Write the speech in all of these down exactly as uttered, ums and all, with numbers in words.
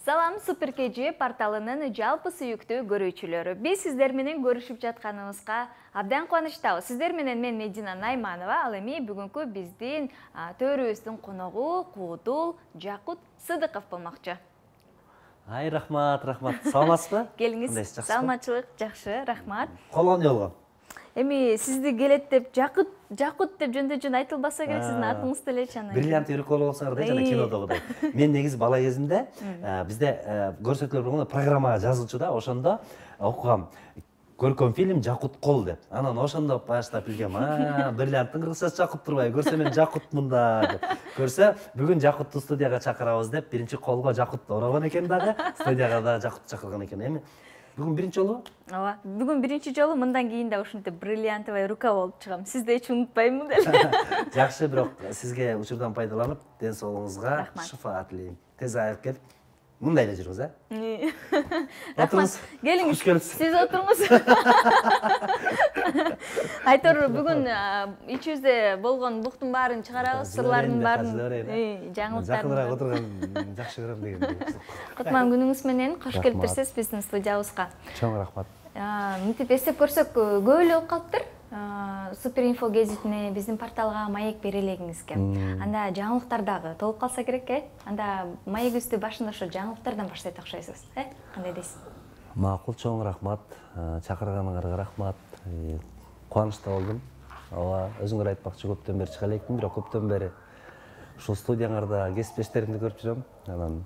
Салам, Супер Кежи порталынын жалпы сүйүктүү көрүүчүлөрү. Биз сиздер менен көрүшүп жатканыбызга абдан кубанычтабыз. Сиздер менен мен Медина Найманова, ал эми бүгүнкү биздин төрүбүздүн коногу Куудул Жакут Сыдыков болмокчу. Ай, рахмат, рахмат. Саламатсызбы? Келиңиз. Саламатчылык жакшы, рахмат. Колу эмне болгон? Эми сизди келет деп Жакут, Жакут деп жөн-жөн айтылбаса керек, сиздин атыңыз деле чана. Бриллиант үйрөк колу болсоңор да жана кинодогудай. Мен негизи бала кезимде бизде көрсөтүүлөр болгондо программага жазылчу да, ошондо окугам. Көркөм фильм Жакут кол деп. Анан ошондо баштап билгем, а, бриллианттын кыргызчасы Жакут турбайбы? Көрсө мен Жакутмунда деп. Көрсө, бүгүн Жакутту студияга чакырабыз деп, биринчи колго Жакут орогон экен дагы, студияга да Жакут чакырган экен. Эми бүгүн биринчи жолу? Ооба, бүгүн биринчи жолу, мындан кийин да ушинтип бриллиантовая рука болуп чыгам. Сизди эч унутпаймын деле. Жакшы, бирок сизге учурдан пайдаланып, ден соолугуңузга шифа тилейм. Тез айыгып келип, мындай эле жүрүңүз, а? Рахмат. Келиңиз. Сиз отуруңуз. Айтор, бүгүн ичибизде болгон буктун баарын чыгарабыз, сырлардын баарын, жаңылыктарын. Жакыныраак отурган жакшы көрөм дегендей. Кутман күнүңүз менен кош келиптирсиз биздин студиябызга. Чоң рахмат. Мынтип эстеп көрсөк, көп эле болуп калыптыр. Супер инфо гезитине, биздин порталга маек бере элегиңизге. Анда жаңылыктардагы толуп калса керек, э? Анда маегибизди башында ошо жаңылыктардан баштайт окшойсуз, э? Кандай дейсиз? Макул, чоң рахмат. Чакырганыңарга рахмат. Кубанычта болдум. Ооба, өзүңөр айтпакчы көптөн бери чыга элекмин, бирок көптөн бери ушул студияңарда кесиптештеримди көрүп жүрөм. Анан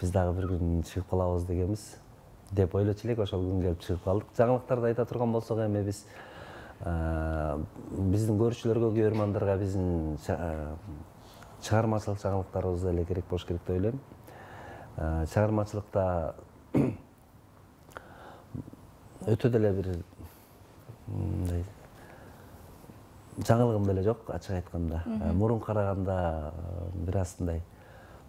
биз дагы бир күн чыгып калабыз дегенбиз деп ойлочу элек, ошол күн келип чыгып калдык. Жаңылыктарды айта турган болсок, эми биз биздин көрүүчүлөргө, көрөрмандарга биздин чыгармачылык жаңылыктарыбыз эле керек болуш керек деп ойлойм. Чыгармачылыкта өтө деле бир мындай жаңылыгым деле жок, ачык айтканда. Мурун караганда бир аз мындай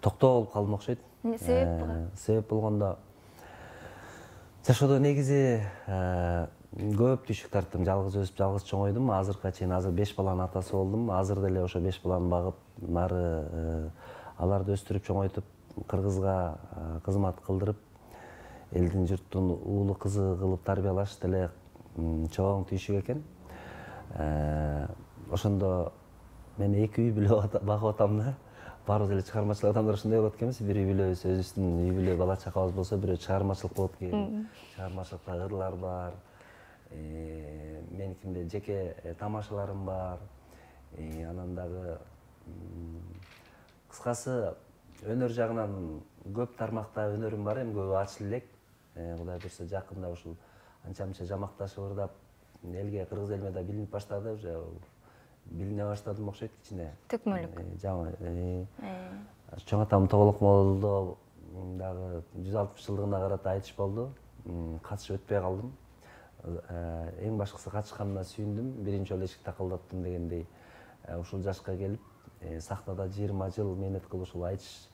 токтоо болуп калдым окшойт. Себеп? Себеп болгондо жашоодо негизи көп түйшүк тарттым, жалгыз өсүп, жалгыз чоңойдум. Азыркыга чейин азыр беш баланын атасы болдум. Азыр деле ошо беш баланы багып, нары аларды өстүрүп, чоңойтуп, Кыргызга кызмат кылдырып, элдин журттун уулу кызы кылып тарбиялаш деле чоң түйшүк экен. Ошондо мен эки үй бүлө багып атам да. Баарыбыз эле чыгармачыл адамдар ушундай болот экенбиз. Бир үй бүлөбүз, өзүбүздүн үй бүлө бала чакабыз болсо, бирөө чыгармачылык болот экен. Чыгармачылыкта ырлар бар. Меникинде жеке тамашаларым бар. Анан дагы кыскасы өнөр жагынан көп тармакта өнөрүм бар, эми көбү ачыла элек. Кудай буйрса жакында ушул анча-мынча жамакташып ырдап, элге, кыргыз элине да билинип баштады, уже билине баштадым окшойт кичине. Төкмөлүк. Жаңы. Чоң атам Тоголок молдо дагы жүз алтымыш жылдыгына карата айтыш болду. Катышып өтпөй калдым. Эң башкысы катышканына сүйүндүм. Биринчи жолу эшик такылдаттым дегендей. Ушул жашка келип, сахнада жыйырма жыл мээнет кылып ушул айтыш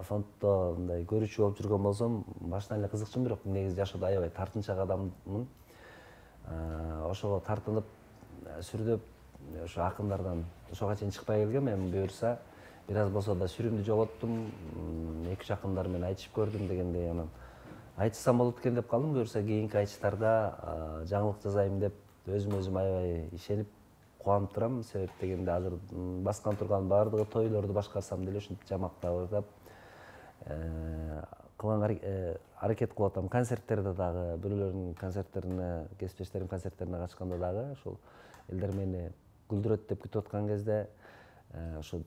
фонддо мындай көрүүчү болуп жүргөн болсом, башынан эле кызыкчумун, бирок негизи жашоодо аябай тартынчаак адаммын. Ошого тартынып, сүрдөп, ошо акындардан ошого чейин чыкпай келгем. Эми буюрса, бир аз болсо да сүрүмдү жоготтум. Эки үч акындар менен айтышып көрдүм дегендей, анан айтышсам болот экен деп калдым. Буюрса кийинки айтыштарда жаңылык жазайм деп өзүм өзүм аябай ишенип, кубанып турам. Себеп дегенде азыр баскан турган баардыгы тойлорду башкарсам деле ушинтип жамактап ырдап кылган аракет кылып атам. Концерттерде дагы, бирөөлөрдүн концерттерине, кесиптештеримдин концерттерине катышканда дагы ошол элдер мени күлдүрөт деп күтүп аткан кезде ошо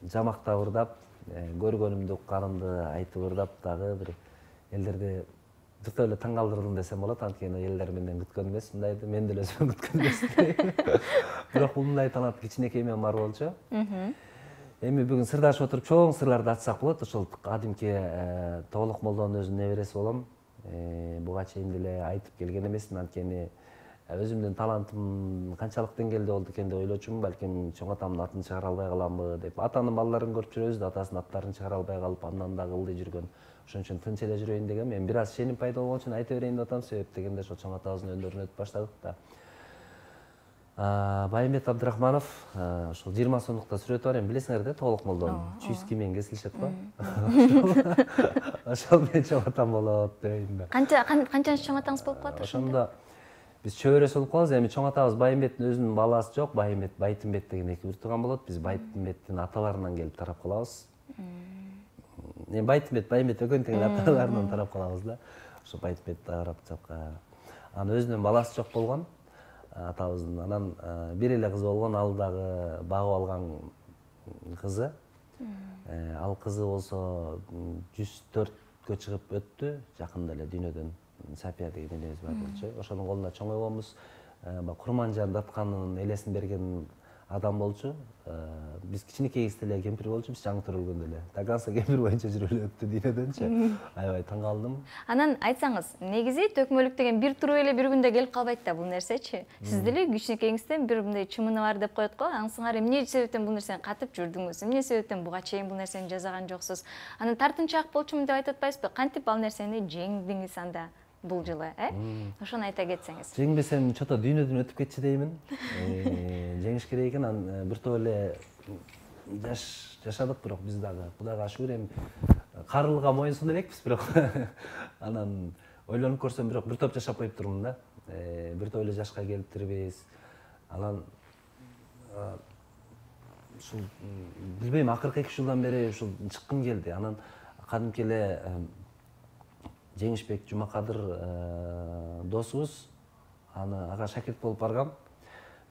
жамактап ырдап, көргөнүмдү, укканымды айтып ырдап дагы бир элдерди жыктап эле таң калтырдым десем болот. Анткени элдер менден күткөн эмес, мындайды мен деле өзүмөн күткөн эмес. Бирок бул мындай талант кичинекей менен бар болчу. Эми бүгүн сырдашып отуруп чоң сырларды ачсак болот. Ошол кадимки Тоголок молдонун өзүнүн небереси болом. Буга чейин деле айтып келген эмесмин, анткени өзүмдүн талантым канчалык деңгээлде болду экен деп ойлочумун. Балким чоң атамдын атын чыгара албай каламбы деп. Атанын балдарын көрүп жүрөбүз да, атасынын аттарын чыгара албай калып, андан дагы ылдый жүргөн. Ошон үчүн тынч эле жүрөйүн дегем. Эми бир аз ишеним пайда болгон үчүн айта берейин деп атам. Себеп дегенде ошо чоң атабыздын өндөрүнө өтүп баштадык да. Байымбет Абдрахманов ошол жыйырма сомдукта сүрөтү бар, эми билесиңер да, толук молдон чуйски менен кесилишет го. Ошол менен чоң атам болот дейм да. Канча канчанчы чоң атаңыз болуп калат ошондо? Биз чөбөрөс болуп калабыз. Эми чоң атабыз Байымбеттин өзүнүн баласы жок, Байымбет, Байтымбет деген эки бир тууган болот. Биз Байтымбеттин аталарынан келип тарап калабыз. Эми Байтымбет, Байымбет экөөнүн тең аталарынан тарап калабыз да. Ошо Байтымбет тарап жакка. Анын өзүнүн баласы жок болгон. Атабыздын анан бир эле кызы болгон, ал дагы багып алган кызы. Ал кызы болсо жүз төрткө чыгып өттү, жакында эле дүйнөдөн. Сапия деген энебиз бар болчу. Ошонун колунда чоңойгонбуз. Курманжан Даткандын элесин берген адам болчу. Биз кичинекей кезде эле кемпир болчубуз, жаңы төрөлгөндө эле. Таганса кемпир боюнча жүрүп эле өттү дүйнөдөнчү. Аябай таң калдым. Анан айтсаңыз, негизи төкмөлүк деген бир туруп эле бир күндө келип калбайт да бул нерсечи. Сиз деле кичинекейиңизден бир мындай чымыны бар деп коет го. Аңсыңар эмне себептен бул нерсени катып жүрдүңүз? Эмне себептен буга чейин бул нерсени жасаган жоксуз? Анан тартынчаак болчумун деп айтып атпайсызбы? Кантип ал нерсени жеңдиңиз анда? Бул жылы, э? Ошону айта кетсеңиз. Жеңбесем чото дүйнөдөн өтүп кетчү деймин. Жеңиш керек экен, анан бир топ эле жаш жашадык, бирок биз дагы Кудайга шүгүр эми карылга моюнсун элекпиз, бирок анан ойлонуп көрсөм, бирок бир топ жашап коюптурмун да. Бир топ эле жашка келиптирбиз. Анан ушул билбейм, акыркы эки жылдан бери ушул чыккым келди. Анан кадимки эле Жеңишбек Жумакадыр досубуз, аны ага шакирт болуп баргам.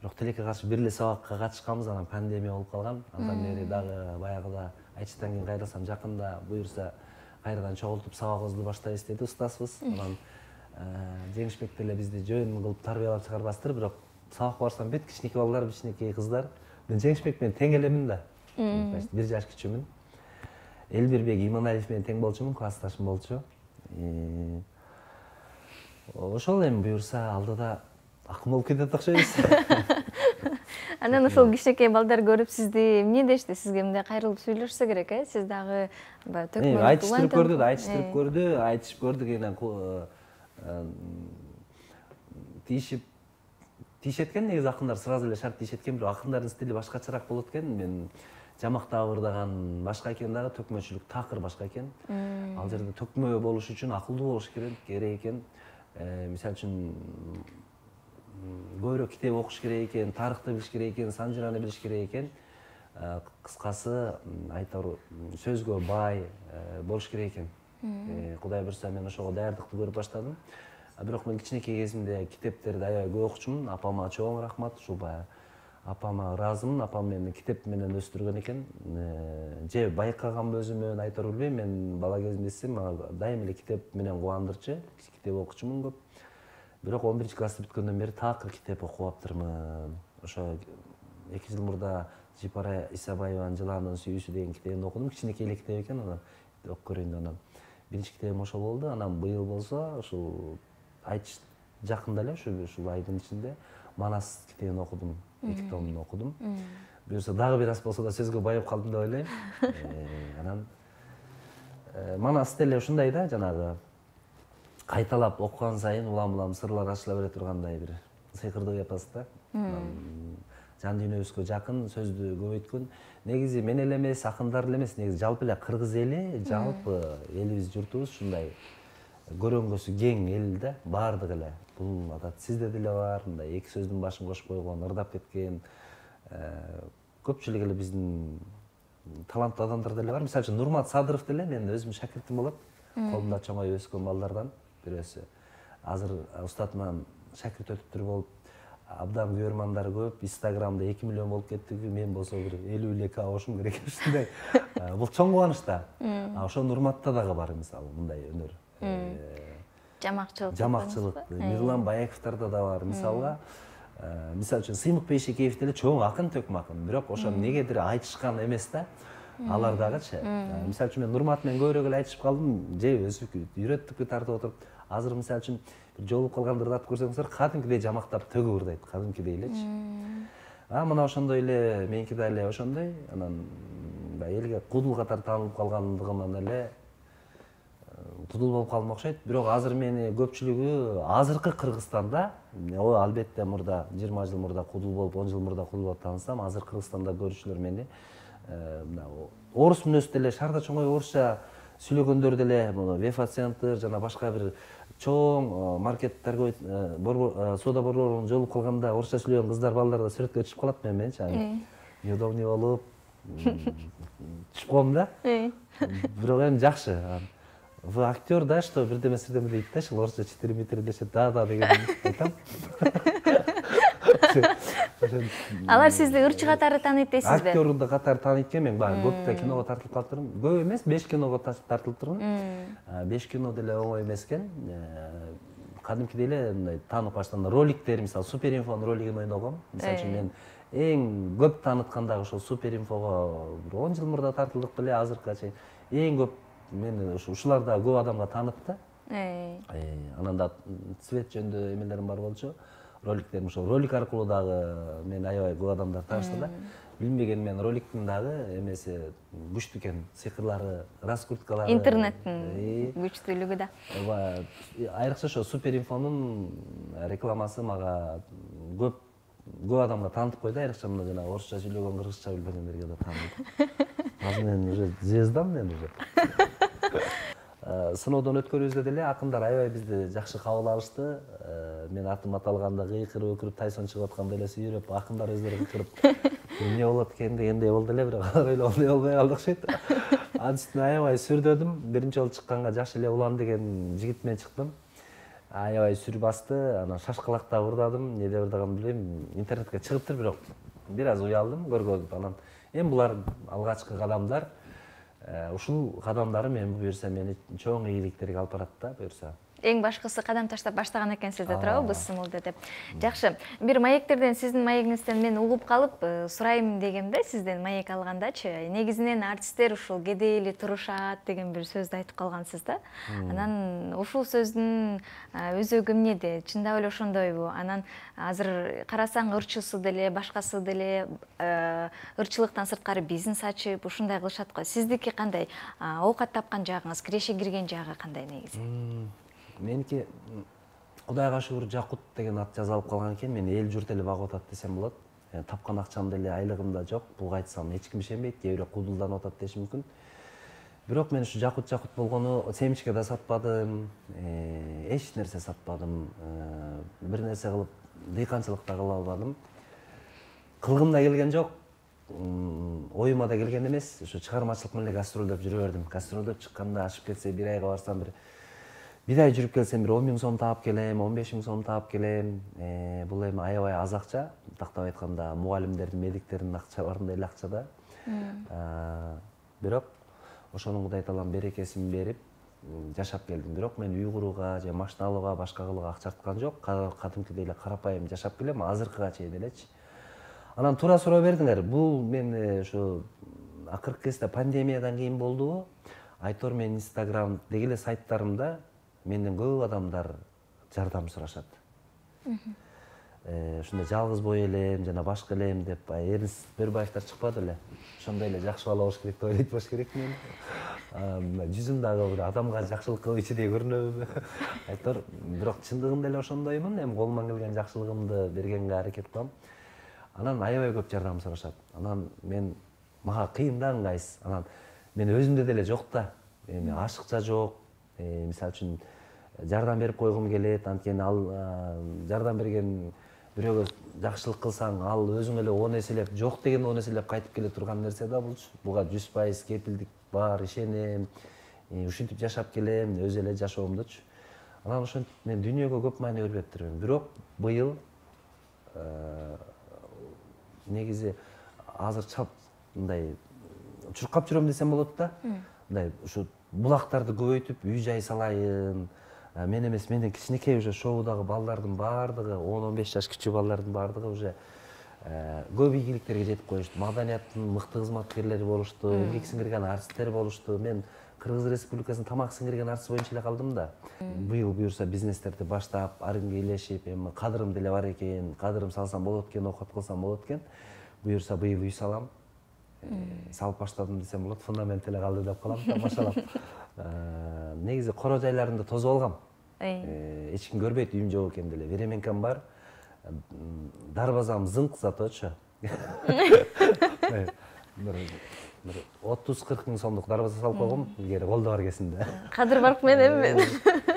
Бирок тилекке каршы бир эле сабакка катышканбыз, анан пандемия болуп калган. Андан бери дагы баягыда айтчыдан кийин кайрылсам, жакында буюрса кайрадан чогултуп сабагыбызды баштайбыз деди устазыбыз. Анан Жеңишбек деле бизди жөн кылып тарбиялап чыгарбастыр, бирок сабакка барсам бет кичинекей балдар, кичинекей кыздар. Мен Жеңишбек менен тең элемин да. Бир жаш кичүүмүн. Элбирбек Иманалиев менен тең болчумун, классташым болчу. Ошол эми буюрса алдыда акын болуп кетет окшойбуз. Анан ошол кичинекей балдар көрүп сизди эмне дешти? Сизге мындай кайрылып сүйлөшсө керек, э? Сиз дагы төкмөлүк айтыштырып көрдү, айтыштырып көрдү, айтышып көрдүк, эне тийишип тийишет экен, негизи акындар сразу эле шарт тийишет экен, бирок акындардын стили башкачараак болот экен. Мен жамактап ырдаган башка экен дагы, төкмөчүлүк такыр башка экен. Ал жерде төкмө болуш үчүн акылдуу болуш керек экен. Мисалы үчүн көбүрөөк китеп окуш керек экен, тарыхты билиш керек экен, сан жыраны билиш керек экен. Кыскасы айтор сөзгө бай болуш керек экен. Кудай буйрса мен ошого даярдыкты көрүп баштадым. Бирок мен кичинекей кезимде китептерди аябай көп окучумун. Апама чоң рахмат, ушул баягы апама ыраазымын. Апам мени китеп менен өстүргөн экен. Же байкаганбы өзүмөн, айтор билбейм. Мен бала кезимде эсесем, мага дайыма эле китеп менен кубандырчу. Китеп окучумун көп. Бирок он биринчи классты бүткөндөн бери такыр китеп окуп аптырмын. Ошо эки жыл мурда Жипара Исабаеванын Жыландын сүйүүсү деген китебин окудум. Кичинекей эле китеп экен, анан окуп көрөйүн деп анан биринчи китебим ошол болду. Анан быйыл болсо ушул айтыш жакында эле ушул айдын ичинде Манас китебин окудум. Эки томун окудум. Буюрса дагы бир аз болсо да сөзгө байып калдым деп ойлойм. Анан Манас деле ушундай да, жанагы кайталап окуган сайын улам-улам сырлар ачыла бере тургандай бир сыйкырдуу эпос да. Жан дүйнөбүзгө жакын, сөздү көбөйткөн. Негизи мен эле эмес, акындар эле эмес, негизи жалпы эле кыргыз эли, жалпы элибиз, журтубуз ушундай көрөнгөсү кең эл да, баардык эле. Бул адат сизде деле бар, мындай эки сөздүн башын кошуп койгон, ырдап кеткен. Көпчүлүк эле биздин таланттуу адамдар деле бар. Мисалы үчүн Нурмат Садыров деле менин өзүмдүн шакиртим болот. Колумда чоңоюп өскөн балдардан бирөөсү. Азыр устатыман шакирт өтүптүр болуп, абдан көрөрмандары көп. Инстаграмда эки миллион болуп кеттик. Мен болсо бир элүү эле к болушум керек ушундай. Бул чоң кубаныч да. А ошо Нурматта дагы бар мисалы мындай өнөр. Жамакчылык. Жамакчылык. Мирлан Баяковдордо да бар. Мисалга, мисалы үчүн Сыймык Бейшекеев деле чоң акын, төкмө акын. Бирок ошо эмнегедир айтышкан эмес да. Алар дагычы. Мисалы үчүн мен Нурмат менен көбүрөөк эле айтышып калдым. Же өзү үйрөттүккө тартып отуруп, азыр мисалы үчүн жолугуп калганда ырдатып көрсөңүздөр, кадимкидей жамактап төгүп ырдайт, кадимкидей элечи. А мына ошондой эле меники да эле ошондой. Анан элге кудул катары таанылып калгандыгынан эле кудул болуп калдым окшойт. Бирок азыр мени көпчүлүгү азыркы Кыргызстанда, о албетте мурда жыйырма жыл мурда кудул болуп, он жыл мурда кудул болуп таанысам, азыр Кыргызстанда көрүүчүлөр мени орус мүнөздүү деле, шаарда чоңой орусча сүйлөгөндөр деле, Вефа-центр жана башка бир чоң маркет торговый соода борборунун жолугуп калганда орусча сүйлөгөн кыздар, балдар да сүрөткө түшүп калат менен менчи. Неудобный болуп түшүп коем да. Бирок эми жакшы. Вы актер, да, что бирдеме сирдеме дейт да, ушул орусча читир-митир дешет, да-да деген айтам. Алар сизди ырчы катары тааныйт дейсизби? Актер да катары тааныйт экен, мен баягы көп да киного тартылып калыптырмын. Көп эмес, беш киного тартылыптырмын. беш кино деле оңой эмес экен. Кадимкидей эле мындай таанып баштаган роликтер, мисалы Суперинфонун ролигин ойногом. Мисалы үчүн мен эң көп тааныткан дагы ошол Суперинфого он жыл мурда тартылдык беле, азыркыга чейин эң көп мени ушулар да көп адамга таанытты. Анан да цвет жөнүндө эмелерим бар болчу. Роликтерим ошол ролик аркылуу дагы мен аябай көп адамдар таанышты да. Билбеген мен роликтин дагы эмеси күчтүү экен, сыйкырлары, раскруткалары. Интернеттин күчтүүлүгү да. Айрыкча ошо Суперинфонун рекламасы мага көп көп адамга таанытып койду, айрыкча мына жана орусча сүйлөгөн, кыргызча билбегендерге да таанытып. Азыр мен уже звездам мен уже. Сыноодон өткөрүүбүздө деле акындар аябай бизди жакшы кабыл алышты. Мен атым аталганда кыйкырып өкүрүп, Тайсон чыгып атканда эле сүйрөп, акындар өздөрү кыйкырып, эмне болот экен дегендей болду эле, бирок алар ойлогондой болбой калды окшойт. Анын үстүнө аябай сүрдөдүм. Биринчи жолу чыкканга жакшы эле улан деген жигит менен чыктым. Аябай сүр басты, анан шашкалакта ырдадым, эмнеде ырдаганымды билбейм. Интернетке чыгыптыр, бирок бир аз уялдым көргөзүп. Анан эми булар алгачкы кадамдар. Ушул кадамдары мен буюрса мени чоң ийгиликтерге алып барат да, буюрса. Эң башкысы кадам таштап баштаган экенсиз да, туурабы, быз сыноодо деп. Жакшы. Бир маектерден, сиздин маегиңизден мен угуп калып, сурайм дегемде, сизден маек алгандачы, негизинен артисттер ушул кедей эле турушат деген бир сөздү айтып калгансыз да. Анан ушул сөздүн өзөгү эмнеде? Чындап эле ошондойбу? Анан азыр карасаң ырчысы деле, башкасы деле ырчылыктан сырткары бизнес ачып, ушундай кылышат го. Сиздики кандай? Оокат тапкан жагыңыз, киреше кирген жагы кандай негизи? Меники Кудайга шүгүр Жакут деген ат жазалып калган экен. Мен эл журт эле багып атат десем болот. Тапкан акчам деле, айлыгым да жок. Буга айтсам эч ким ишенбейт, кээ бирөө кудулданып атат деши мүмкүн. Бирок мен ушу Жакут Жакут болгону семечке да сатпадым, эч нерсе сатпадым. Бир нерсе кылып, дыйканчылык да кыла албадым. Кылгым да келген жок. Оюма да келген эмес. Ушу чыгармачылык менен гастролдоп жүрө бердим. Гастролдоп чыкканда ашып кетсе, бир айга барсам бир бир ай жүрүп келсем бир он миң сом таап келем, он беш миң сом таап келем. Бул эми аябай аз акча. Тактап айтканда мугалимдердин, медиктердин акчаларындай эле акча да. Бирок ошонун Кудай таалам берекесин берип жашап келдим. Бирок мен үй курууга же машина алууга, башка кылууга акча арткан жок. Кадимкидей эле карапайым жашап келем, азыркыга чейин элечи. Анан туура суроо бердиңер. Бул мен ушу акыркы кезде пандемиядан кийин болдубу? Айтор мен Инстаграм деги эле сайттарымда менден көп адамдар жардам сурашат. Ушундай жалгыз бой элем жана башка элем деп Эрнст Бөрбаевдер чыкпады эле. Ошондой эле жакшы бала болуш керек деп ойлойт болуш керек мен. Жүзүм дагы бир адамга жакшылык кылуучудей көрүнөбү? Айтор, бирок чындыгында эле ошондоймун. Эми колуман келген жакшылыгымды бергенге аракет кылам. Анан аябай көп жардам сурашат. Анан мен мага кыйын да ыңгайсыз. Анан мен өзүмдө деле жок да. Эми ашыкча жок. Мисалы үчүн жардам берип койгум келет, анткени ал жардам берген бирөөгө жакшылык кылсаң, ал өзүң эле он эселеп, жок деген он эселеп кайтып келе турган нерсе да булчу. Буга жүз пайыз кепилдик бар, ишенем. Ушинтип жашап келем, өз эле жашоомдучу. Анан ошентип мен дүйнөгө көп маани бербептирмин. Бирок быйыл негизи азыр чап мындай чуркап жүрөм десем болот да. Мындай ушу булактарды көбөйтүп, үй жай салайын. Мен эмес, менден кичинекей уже шоудагы балдардын баардыгы, он он беш жаш кичүү балдардын баардыгы уже көп ийгиликтерге жетип коюшту. Маданияттын мыкты кызматкерлери болушту, эмгек сиңирген артисттер болушту. Мен Кыргыз Республикасынын тамак сиңирген артист боюнча эле калдым да. Быйыл буюрса бизнестерди баштап, арынга элешип, эми кадырым деле бар экен, кадырым салсам болот экен, окот кылсам болот экен. Буюрса быйыл үй салам. салып баштадым десем болот, фундамент эле калды деп калам, тамашалап. Негизи коро жайларында тозуп алгам. Эч ким көрбөйт, үйүм жок экен деле. Веременкам бар. Дарбазам зыңк заточу. Бир отуз кырк миң сомдук дарбаза салып койгом, илгери колдо бар кезинде. Кадыр барк менен мен.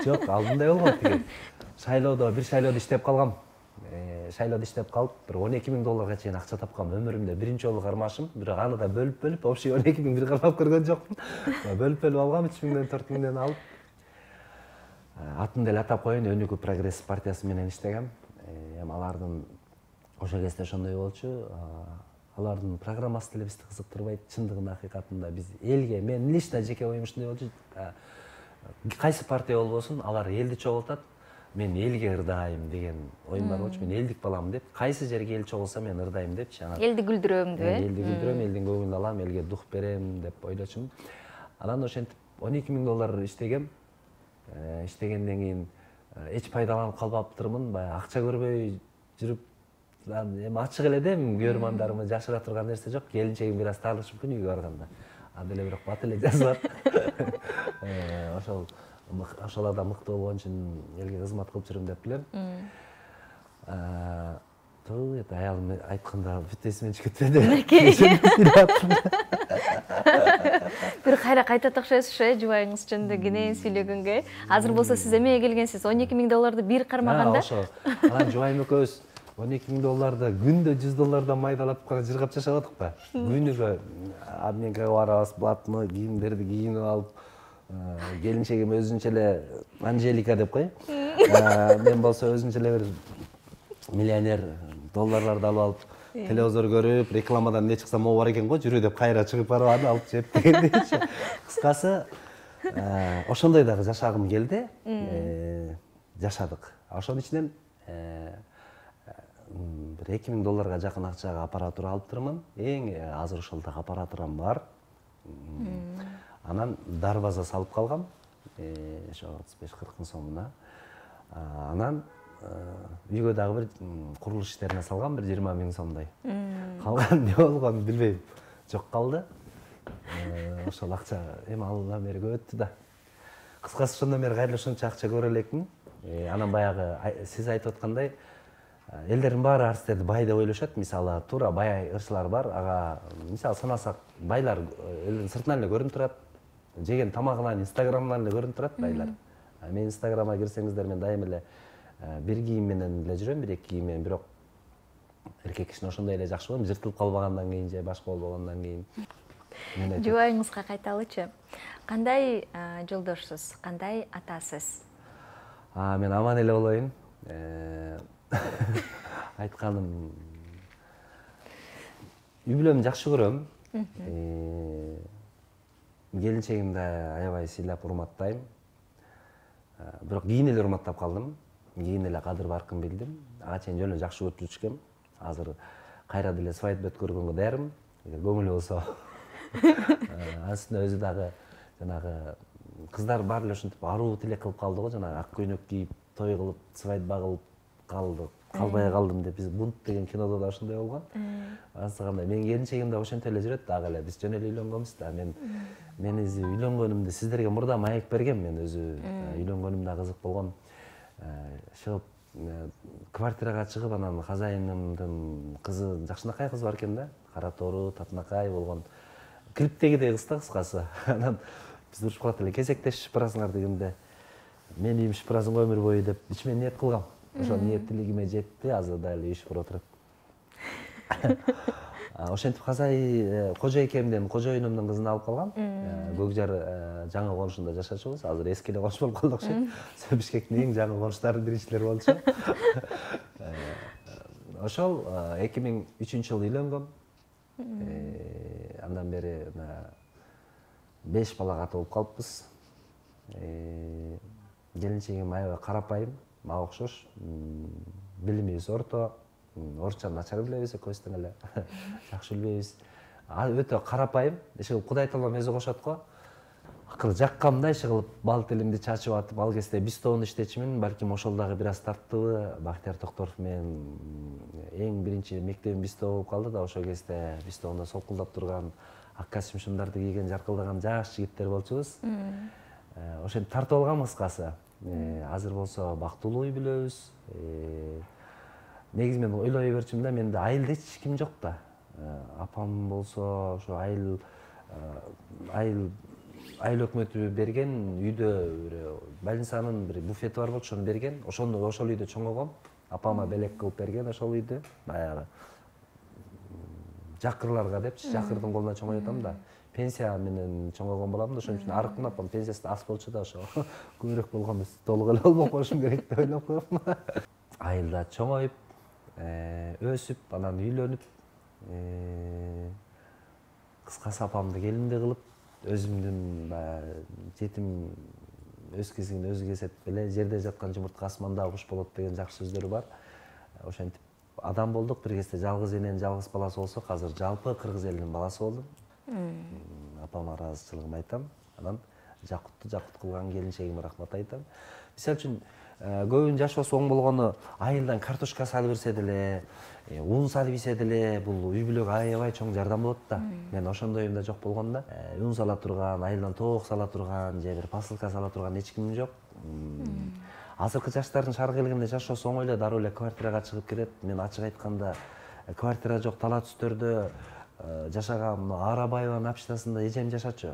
Жок, алдындай болгон тиги. Шайлоодо, бир шайлоодо иштеп калгам. Шайлоодо иштеп калып, бир он эки миң долларга чейин акча тапкам. Өмүрүмдө биринчи жолу кармашым, бирок аны да бөлүп-бөлүп, общий он эки миң бир кармап көргөн жокмун. Бөлүп-бөлүп алгам, үч миңден төрт миңден алып. Атын деле атап коеюн, Өнүгүү прогресс партиясы менен иштегем. Эми алардын ошол кезде ошондой болчу. Алардын программасы деле бизди кызыктырбайт. Чындыгында акыйкатында биз элге, мен лично жеке оюм ушундай болчу. Кайсы партия болбосун, алар элди чогултат. Мен элге ырдайм деген оюм бар болчу. Мен элдик баламын деп, кайсы жерге эл чогулса мен ырдайм депчи. Элди күлдүрөм деп, э? Элди күлдүрөм, элдин көңүлүн алам, элге дух берем деп ойлочумун. Анан ошентип он эки миң доллар иштегем. Иштегенден кийин эч пайдаланып калбаптырмын, баягы акча көрбөй жүрүп, эми ачык эле да, көрөрмандарыма жашыра турган нерсе жок. Келинчегим бир аз таалышы мүмкүн үйгө барганда. А деле бирок бат эле жазылат. Ошол ошоларда мыкты болгон үчүн элге кызмат кылып жүрөм деп билем. Туу, эт аялым айтканда бүт эсимен чыгып кетти. Бир кайра кайта такшайсыз э, жубайыңыз жөнүндө кенен сүйлөгөнгө. Азыр болсо сиз эмеге келгенсиз? он эки миң долларды бир кармаганда. Ошо. Анан жубайым экөөбүз он эки миң долларды күндө жүз доллардан майдалап жыргап жашап атыкпы? Күнүгө обменкага барабыз, блатны кийимдерди кийинип алып, келинчегим өзүнчө эле Анжелика деп кой. Мен болсо өзүнчө эле бир миллионер долларларды алып алып, телевизор көрүп, рекламадан эмне чыкса могу бар экен го, жүрү деп кайра чыгып барып аны алып жеп дегендейчи. Кыскасы, ошондой дагы жашагым келди. Жашадык. Ошонун ичинен бир эки миң долларга жакын акчага аппаратура алып турмун. Эң азыр ошол дагы аппаратурам бар. Анан дарбаза салып калгам. Ошо отуз беш кырк миң сомуна. Анан үйгө дагы бир курулуш иштерине салгам, бир жыйырма миң сомдой. Калган эмне болгонун билбейм. Жок калды. Ошол акча эми алдан бери көп өттү да. Кыскасы ошондон бери кайра ошончо акча көрө элекмин. Анан баягы сиз айтып аткандай, элдердин баары артисттерди бай деп ойлошот. Мисалы, туура бай ырчылар бар. Ага, мисалы санасак, байлар элдин сыртынан эле көрүнүп турат. Жеген тамагынан, инстаграмынан эле көрүнүп турат байлар. Мен инстаграмга кирсеңиздер, мен дайым эле бир кийим менен эле жүрөм, бир эки кийим менен, бирок эркек кишине ошондой эле жакшы болом, жыртылып калбагандан кийин же башка болбогондон кийин. Жубайыңызга кайталычы. Кандай жолдошсуз, кандай атасыз? Мен аман эле болоюн. Айтканым, үй бүлөмдү жакшы көрөм. Келинчегимди аябай сыйлап урматтайм. Бирок кийин эле урматтап калдым. Кийин эле кадыр баркын билдим. Ага чейин жөн эле жакшы көрүп жүрчүкөм. Азыр кайра деле свадьба өткөргөнгө даярмын. Эгер көңүлү болсо. Астында өзү дагы жанагы кыздар баары эле ушинтип аруу тилек кылып калды го, жанагы ак көйнөк кийип, той кылып, свадьба кылып калды. Калбай калдым деп, биз Бунт деген кинодо да ошондой болгон. Ансыгандай мен келинчегим да ошентип эле жүрөт дагы эле. Биз жөн эле үйлөнгөнбүз да. Мен мен өзү үйлөнгөнүмдү сиздерге мурда маек бергем. Мен өзү үйлөнгөнүм да кызык болгон. Чыгып квартирага чыгып, анан казайынымдын кызы жакшынакай кыз бар экен да. Кара тору, татынакай болгон. Клиптегидей кыз да, кыскасы. Анан биз урушуп калат эле, кезектешип барасыңар дегенде, мен үйүм шыпырасың өмүр бою деп ичимен ниет кылгам. Ошо ниеттилигиме жетти, азыр дагы үй шыпырып отурат. Ошентип казай кожо экемден, кожоюнумдун кызын алып калгам. Көкжар жаңы конушунда жашачубуз. Азыр эски эле конуш болуп калды окшойт. Бишкектин эң жаңы конуштарынын биринчилери болчу. Ошол эки миң үчүнчү жылы үйлөнгөм. Андан бери беш балага ата болуп калыппыз. Келинчегим аябай карапайым, мага окшош. Билимибиз орто. Орусча начар билебиз, экөөбүз тең эле. Жакшы билбейбиз. Өтө карапайым. Иши Кудай таалам өзү кошот го. акыры жаккамда иши кылып бал тилимди чачып атып ал кезде бистовну иштечүмүн. Балким ошол дагы бир аз тарттыбы. Бактияр Токторов менен эң биринчи мектебим бистов болуп калды да, ошол кезде бистовдо солкулдап турган ак костюм-шымдарды кийген жаркылдаган жаш жигиттер болчубуз. Ошентип тартып алгам кыскасы. Азыр болсо бактылуу үй бүлөбүз. Негизи мен ойлой берчүмүн да, менде айылда эч ким жок да. Апам болсо ошо айыл айыл айыл өкмөтү берген үйдө бир больницанын бир буфети бар болчу, ошону берген. Ошону ошол үйдө чоңойгом. Апама белек кылып берген ошол үйдү. Баягы жакырларга депчи, жакырдын колуна чоңой атам да. Пенсия менен чоңойгон балам да, ошон үчүн арыктын апам пенсиясы аз болчу да, ошо көбүрөөк болгон эмес, толук эле болбоп коюшум керек деп ойлоп коем. Айылда чоңоюп, өсүп, анан үйлөнүп, кыскасы апамды келинди кылып, өзүмдүн баягы жетим өз кезигин өзү кесет эле, жерде жаткан жумуртка асманда куш болот деген жакшы сөздөрү бар. Ошентип адам болдук. Бир кезде жалгыз эненин жалгыз баласы болсок, азыр жалпы кыргыз элинин баласы болдум. Апама ыраазычылыгымды айтам. Анан Жакутты жакут кылган келинчегиме рахмат айтам. Мисалы үчүн көбүнүн жашоосу оң болгону айылдан картошка салып берсе деле, ун салып ийсе деле, бул үй бүлөгө аябай чоң жардам болот да. Мен ошондой уюмда жок болгон да. Ун сала турган, айылдан тоок сала турган, же бир посылка сала турган эч ким жок. Азыркы жаштардын шарк элегинде жашоосу оңой эле, дароо эле квартирага чыгып кетет. Мен ачык айтканда квартира жок, тала түстөрдө жашагам. Арабаеванын общинасында эжем жашачу.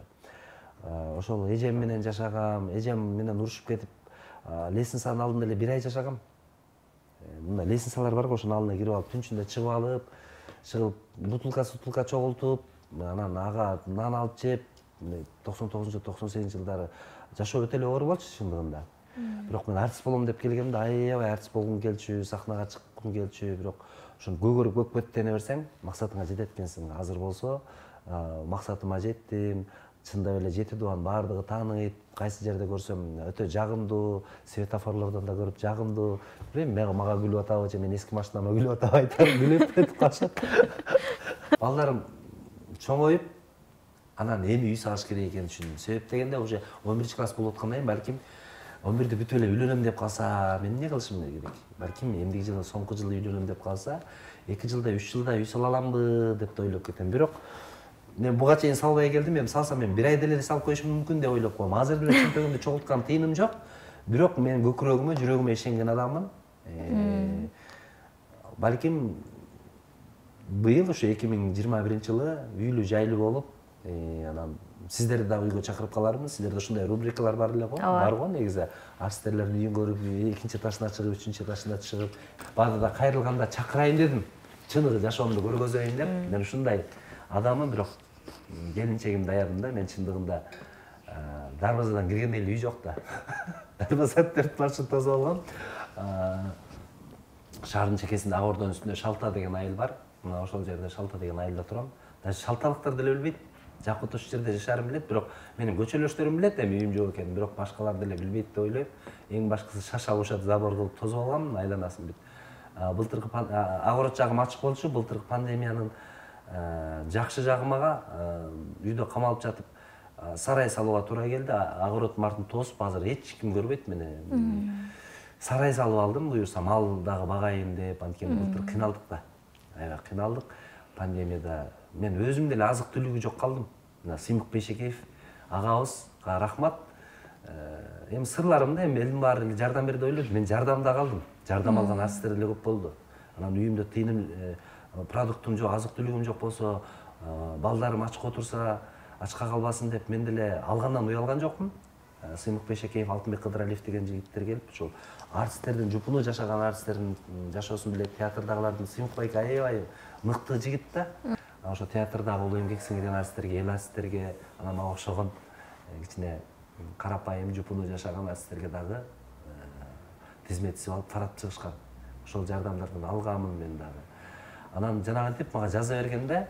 Ошол эжем менен жашагам, эжем менен урушуп кетип, лестницанын алдында эле бир ай жашагам. Мына лестницалар бар го, ошонун алдына кирип алып, түнчүндө чыгып алып, чыгып бутылка сутулка чогултуп, анан ага нан алып жеп, токсон тогузунчу токсон сегизинчи жылдары жашоо өтө эле оор болчу чындыгында. Бирок мен артист болом деп келгемде аябай артист болгум келчү, сахнага чыккым келчү, бирок ошону көкөрүп көкпөттене берсең, максатыңа жетет экенсиң. Азыр болсо максатыма жеттим. Чындап эле жети дубан баардыгы тааныйт, кайсы жерде көрсөм өтө жагымдуу, светофорлордон да көрүп жагымдуу. Билбейм, мага күлүп атабы же мен эски машинама күлүп атабы айтам, күлүп өтүп калышат. Балдарым чоңоюп, анан эми үй салыш керек экенин түшүндүм. Себеп дегенде уже он биринчи класс болуп аткандан кийин балким он бирди бүтүп эле үйлөнөм деп калса, мен эмне кылышым керек? Балким эмдиги жылы, соңку жылы үйлөнөм деп калса, эки жылда, үч жылда үй сала аламбы деп да ойлоп кетем. Бирок мен буга чейин салбай келдим, эми салсам мен бир айда эле салып коюшум мүмкүн деп ойлоп коем. Азыр деле чөнтөгүмдү чогулткан тыйыным жок. Бирок мен көкүрөгүмө, жүрөгүмө ишенген адаммын. Балким быйыл ошо эки миң жыйырма биринчи жылы үйлүү жайлуу болуп, анан сиздерди дагы үйгө чакырып калармын. Сиздерде ушундай рубрикалар бар эле го, бар го негизи. Артисттерлердин үйүн көрүп, экинчи этажына чыгып, үчүнчү этажына чыгып, баада кайрылганда чакырайын дедим. Чыныгы жашоомду көргөзөйүн деп. Мен ушундай адаммын, бирок келинчегим даярдым да. Мен чындыгында дарбазадан киргенде эле үй жок да. Дарбаза төрт маршрут тосуп алгам. Шаардын чекесинде Ак Ордонун үстүндө Шалта деген айыл бар. Мына ошол жерде Шалта деген айылда турам. Даже шалталыктар деле билбейт. Жакут ушул жерде жашарым билет, бирок менин көчөлөштөрүм билет эми үйүм жок экенин, бирок башкалар деле билбейт деп ойлойм. Эң башкысы шаша бушат забор кылып тосуп алгам, айланасын бүт. Былтыркы Ак Ород жагым ачык болчу, былтыркы пандемиянын жакшы жагы мага үйдө камалып жатып сарай салууга туура келди. Ак Ороддун артын тосуп, азыр эч ким көрбөйт мени. Сарай салып алдым, буюрса мал дагы багайын деп, анткени былтыр кыйналдык да. Аябай кыйналдык. Пандемияда мен өзүм деле азык түлүгү жок калдым. Мына Сыймык Бейшекеев агабызга рахмат. Эми сырларымда эми элдин баары жардам берди деп ойлойм. Мен жардамда калдым. Жардам алган артисттер деле көп болду. Анан үйүмдө тыйыным, продуктум жок, азык түлүгүм жок болсо, балдарым ачка отурса, ачка калбасын деп мен деле алгандан уялган жокмун. Сыймык Бейшекеев, Алтынбек Кыдыралиев деген жигиттер келип, ушул артисттердин, жупуну жашаган артисттердин жашоосун билет, театрдагылардын Сыймык байке аябай мыкты жигит да. Ошо театрдагы улуу эмгек сиңирген артисттерге, эл артисттерге, анан мага окшогон кичине карапайым жупуну жашаган артисттерге дагы тизметип алып тарап чыгышкан. Ошол жардамдардан алганмын мен дагы. Анан жанагынтип мага жаза бергенде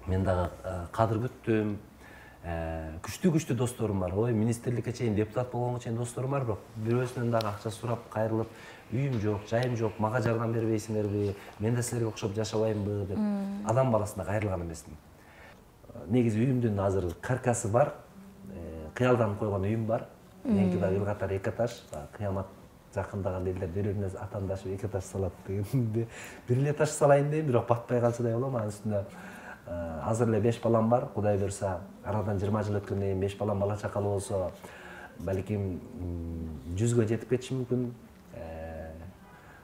мен дагы кадыр күттүм. Күчтүү-күчтүү досторум бар. Ой, министрликке чейин, депутат болгонго чейин досторум бар, бирок бирөөсүнөн дагы акча сурап кайрылып, үйүм жок, жайым жок, мага жардам бербейсиңерби? Мен да силерге окшоп жашабаймбы деп адам баласына кайрылган эмесмин. Негизи үйүмдүн азыр каркасы бар. кыялданып койгон үйүм бар. Меники дагы эл катары эки этаж. Кыямат жакындаганда элдер бири-бирине атаандашып эки этаж салат дегенде бир эле этаж салайын дейм, бирок батпай калчудай болом. Анын үстүнө азыр эле беш балам бар. Кудай буйрса, арадан жыйырма жыл өткөндөн кийин беш балам бала чакалуу болсо, балким жүзгө жетип кетиши мүмкүн.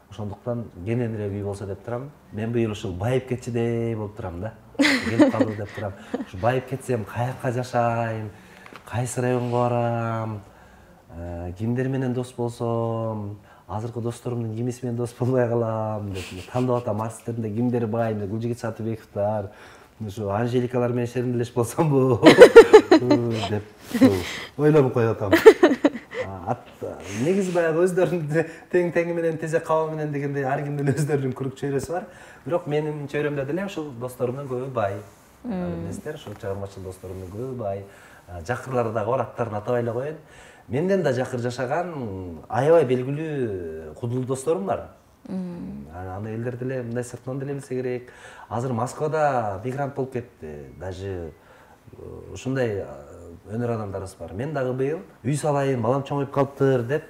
Ошондуктан кененирээк үй болсо деп турам. Мен быйыл ушул байып кетчидей болуп турам да. Келип калуу деп турам. Ушу байып кетсем каяка жашайм, кайсы районго барам, кимдер менен дос болсом, азыркы досторумдун кимиси менен дос болбой калам деп тандап атам. Арсттеринде кимдер бай, Гүлжигит Сатыбековдор, ушу Анжеликалар менен шеримдешип болсомбу деп ойлонуп коюп атам. Негизи баягы өздөрүнүн тең теңи менен тезе каба менен дегендей ар кимдин өздөрүнүн күрүк чөйрөсү бар. Бирок менин чөйрөмдө деле ушул досторумдун көбү бай. Эместер, ушул чыгармачыл досторумдун көбү бай. Жакырлары дагы бар, аттарын атабай эле коеюн. Менден да жакыр жашаган аябай белгилүү кудул досторум бар. Аны элдер деле мындай сыртынан деле билсе керек. Азыр Москвада мигрант болуп кетти. Даже ушундай өнөр адамдарыбыз бар. Мен дагы быйыл үй салайын, балам чоңоюп калыптыр деп,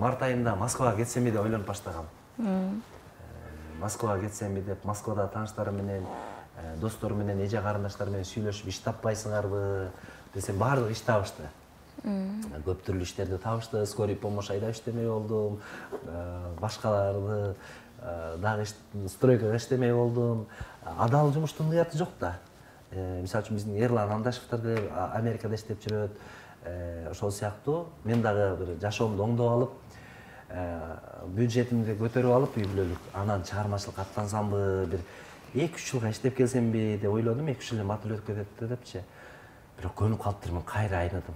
март айында Москвага кетсемби деп ойлонуп баштагам. Москвага кетсемби деп, Москвада тааныштарым менен, досторум менен, эже карындаштар менен сүйлөшүп, иш таппайсыңарбы десем, баардыгы иш табышты. Көп түрлүү иштерди табышты, скорый помощь айдап иштемей болдум, башкаларды дагы стройкага иштемей болдум. Адал жумуштун ыяты жок да. Мисалы үчүн биздин Эрлан Андашевдер деле Америкада иштеп жүрөт. Ошол сыяктуу мен дагы бир жашоомду оңдоп алып, бюджетимди көтөрүп алып үй бүлөлүк, анан чыгармачылыкка аттансамбы, бир эки үч жылга иштеп келсемби деп ойлодум. эки үч жыл мат өтүп кетет депчи. Бирок көнүп калыптырмын, кайра айныдым.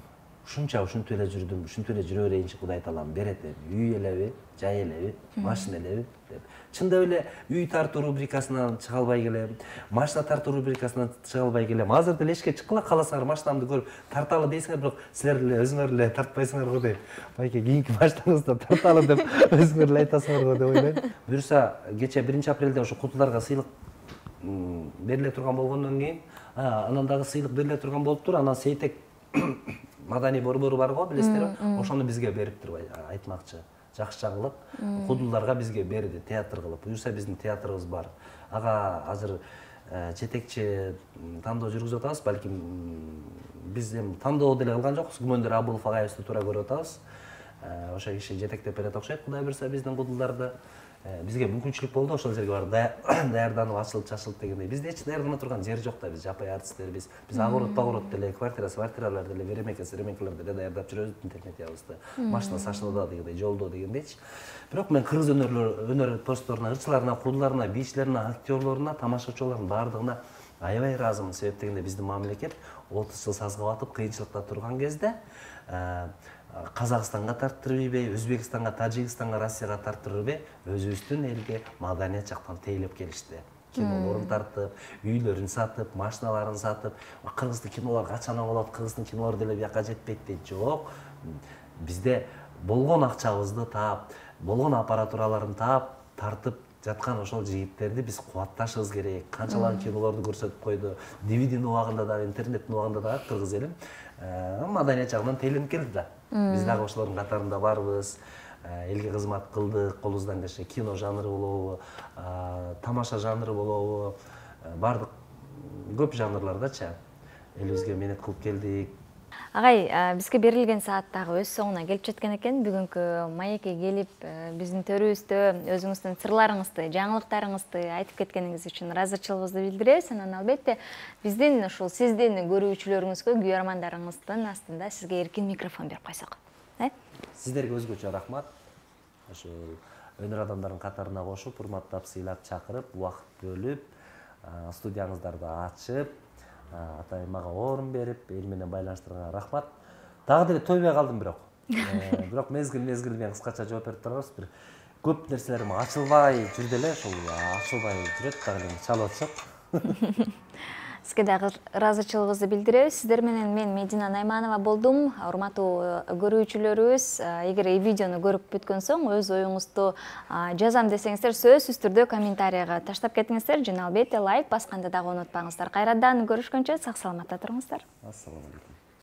Ушунча ушинтип эле жүрдүм, ушинтип эле жүрө берейинчи, Кудай таалам берет эми. Үй элеби, жай элеби, машина элеби деп. Чындап эле үй тартуу рубрикасынан чыга албай келем, машина тартуу рубрикасынан чыга албай келем. Азыр деле эшикке чыккыла кааласаңар машинамды көрүп тарталы дейсиңер, бирок силер деле өзүңөр эле тартпайсыңар го дейм. Байке кийинки машинаңызды тарталы деп өзүңөр эле айтасыңар го деп ойлойм. Буюрса кече биринчи апрелде ошо кутуларга сыйлык бериле турган болгондон кийин, анан дагы сыйлык бериле турган болуптур. Анан Сейтек Маданий борбору бар го, билесиздерби? Ошону бизге бериптир, айтмакчы. Жакшы жаңылык. Кудулдарга бизге берди, театр кылып. Буюрса биздин театрыбыз бар. Ага азыр жетекчи тандоо жүргүзүп атабыз. Балким биз эми тандоо деле кылган жокпуз. Күмөндөр Абылов агайыбызды туура көрүп атабыз. Ошо киши жетектеп берет окшойт. Кудай буйрса биздин кудулдарды бизге мүмкүнчүлүк болду, ошол жерге барып даярданып, ачылып, чачылып дегендей. Бизде эч даярдана турган жер жок да, биз жапай артисттербиз. Биз агорот, багорот деле, квартира, квартиралар деле, веремеке, серемекелер деле даярдап жүрөбүз интернетибызды. Машина сашылда дегендей, жолдо дегендейчи. Бирок мен кыргыз өнөрлөр, өнөр постторуна, ырчыларына, кудуларына, бийчилерине, актерлоруна, тамашачыларынын баардыгына аябай ыраазымын. Себеп дегенде биздин мамлекет отуз жыл сазга батып, кыйынчылыкта турган кезде Казакстанга тарттырып ийбей, Өзбекстанга, Тажикстанга, Россияга тарттырып ийбей, өзүбүздүн элге маданият жактан тейлеп келишти. Кинолорун тартып, үйлөрүн сатып, машиналарын сатып, кыргыздын кинолор качан болот, кыргыздын кинолору деле бияка жетпейт дейт. Жок. Бизде болгон акчабызды таап, болгон аппаратураларын таап, тартып жаткан ошол жигиттерди биз кубатташыбыз керек. Канчалар кинолорду көрсөтүп койду. ди ви динин убагында дагы, интернеттин убагында дагы кыргыз элим маданият жагынан тейленип келди да. Биз дагы ошолордун катарында барбыз. Элге кызмат кылдык, колубуздан келсе кино жанры болобу, тамаша жанры болобу, бардык көп жанрлардачы элибизге менет кылып келдик. Агай, бизге берилген саат дагы өз соңуна келип жеткен экен. Бүгүнкү маекке келип, биздин төрүбүздө өзүңүздүн сырларыңызды, жаңылыктарыңызды айтып кеткениңиз үчүн ыраазычылыгыбызды билдиребиз. Анан албетте биздин ушул сиздин көрүүчүлөрүңүзгө, күйөрмандарыңыздын астында сизге эркин микрофон берип койсок. Сиздерге өзгөчө рахмат. Ошол өнөр адамдарынын катарына кошуп, урматтап, сыйлап, чакырып, убакыт бөлүп, студияңыздарды ачып, атай мага орун берип, эл менен байланыштырганга рахмат. Дагы деле тойбой калдым бирок. Бирок мезгил-мезгил менен кыскача жооп берип турабыз. Бир көп нерселерим ачылбай жүрдү эле, ошол ачылбай жүрөт, дагы эле чалып атышат. Сизге дагы ыраазычылыгыбызды билдиребиз. Сиздер менен мен Медина Найманова болдум. Урматтуу көрүүчүлөрүбүз, эгер видеону көрүп бүткөн соң өз оюңузду жазам десеңиздер, сөзсүз түрдө комментарийга таштап кетиңиздер. Жана албетте лайк басканды дагы унутпаңыздар. Кайрадан көрүшкөнчө сак саламатта туруңуздар. Ассаламу алейкум.